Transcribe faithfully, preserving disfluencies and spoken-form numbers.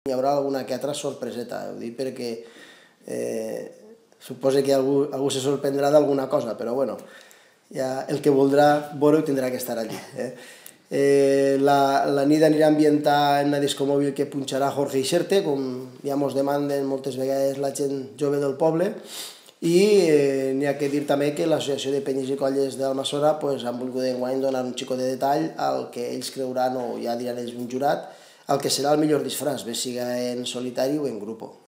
Hi haurà alguna que altra sorpreseta, ho dic perquè eh, suposo que algú, algú se sorprendrà d'alguna cosa, però bueno, ja el que voldrà veure tindrà que estar allí. Eh? Eh, la, la nit anirà ambientada en una disco mòbil que punxarà Jorge Ixerte, com ja mos demanden moltes vegades la gent jove del poble, i eh, n'hi ha que dir també que l'Associació de Penyes i Colles d'Almassora pues, han volgut enguany donar un xico de detall al que ells creuran, o ja diran ells un jurat, el que serà el millor disfraç, bé siga en solitari o en grup.